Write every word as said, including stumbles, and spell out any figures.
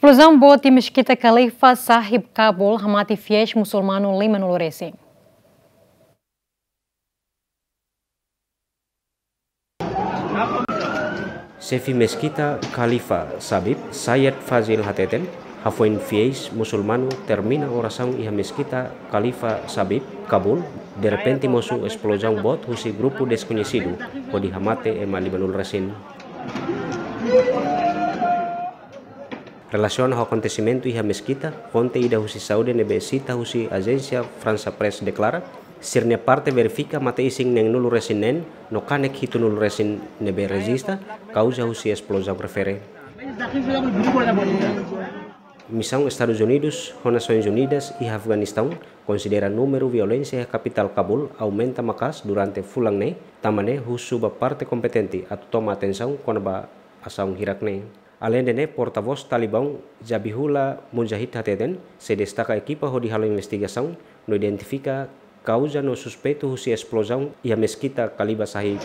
Esplozaun boot iha Meskita Khalifa Sahib Kabul hamate fiéis musulmanu limanulu resin. Xefe Meskita Khalifa Sahib, Sayyid Fazil hateten, hafoin fiéis musulmanu termina orasaun iha Meskita Khalifa Sahib Kabul, derrepente mosu esplozaun boot husi grupu deskoñesidu, hodi hamate ema limanulu resin. Relasiona ho akontesimentu iha Meskita, fonte ida husi saúde ne'ebé sita husi Agência France Presse deklara, sira-nia parte verifika mate-isin neenulu resin neen, no kanek hitunulu resin ne'ebé rejista, kauza husi esplozaun refere. Misaun Estadus Unidus ho Nasoins Unidas iha Afeganistaun konsidera númeru violénsia iha kapitál Kabul aumenta maka'as durante fulan ne'e, tanba ne'e husu ba parte kompetente atu toma atensaun kona-ba asaun hirak ne'e. Aleinde ne'e, portavós Talibaun Zabihullah Mujahid hateten, sei destaka ekipa hodi halo investigasaun no identifika kauza no suspeitu husi esplozaun iha Meskita Khalifa Sahib.